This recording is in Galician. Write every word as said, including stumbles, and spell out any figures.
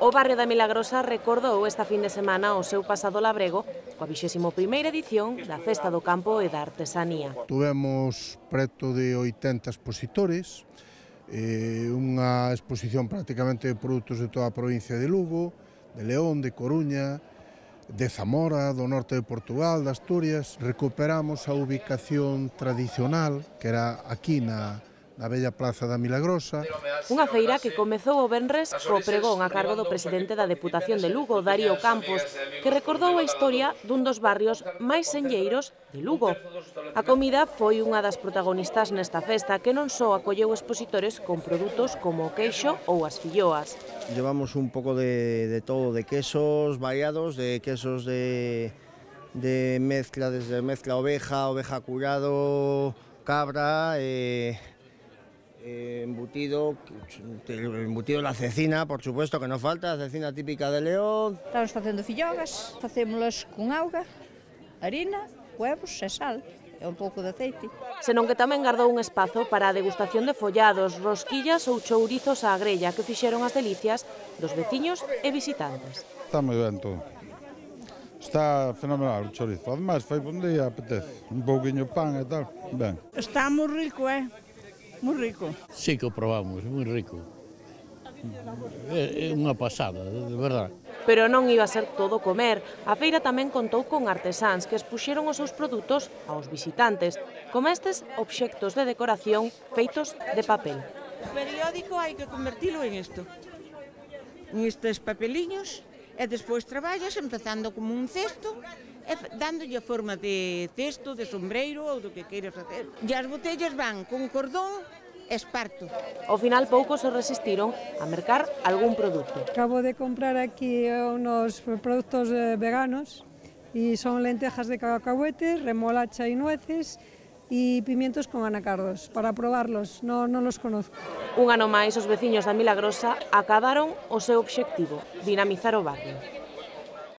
O barrio da Milagrosa recordou esta fin de semana o seu pasado labrego coa vixésima primeira edición da Festa do Campo e da Artesanía. Tuvemos preto de oitenta expositores, eh, unha exposición prácticamente de produtos de toda a provincia de Lugo, de León, de Coruña, de Zamora, do norte de Portugal, de Asturias. Recuperamos a ubicación tradicional que era aquí na na bella plaza da Milagrosa. Unha feira que comezou o venres co pregón a cargo do presidente da Deputación de Lugo, Darío Campos, que recordou a historia dun dos barrios máis senlleiros de Lugo. A comida foi unha das protagonistas nesta festa que non só acolleu expositores con produtos como o queixo ou as filloas. Llevamos un pouco de, de todo, de quesos variados, de quesos de, de mezcla, desde mezcla oveja, oveja curado, cabra, eh, Eh, embutido, embutido la cecina, por supuesto, que non falta, a cecina típica de León. Estamos facendo fillogas, facémolas con auga, harina, huevos e sal, e un pouco de aceite. Senón que tamén gardou un espazo para a degustación de follados, rosquillas ou chourizos á grella que fixeron as delicias dos veciños e visitantes. Está moi ben todo. Está fenomenal o chourizo. Ademais, foi un día, apetece. Un pouquiño pan e tal, ben. Está moi rico, eh? Moi rico. Sí que o probamos, moi rico. É unha pasada, de verdade. Pero non iba a ser todo comer. A feira tamén contou con artesáns que expuxeron os seus produtos aos visitantes, como estes obxectos de decoración feitos de papel. O periódico hai que convertilo en isto. En estes papeliños, e despois traballas empezando como un cesto, e dándolle a forma de cesto, de sombreiro ou do que queiras facer. E as botellas van con cordón e esparto. Ao final poucos se resistiron a mercar algún produto. Acabo de comprar aquí unos productos veganos e son lentejas de cacahuete, remolacha e nueces e pimientos con anacardos. Para probarlos, non, non los conozco. Un ano máis, os veciños da Milagrosa acadaron o seu obxectivo, dinamizar o barrio.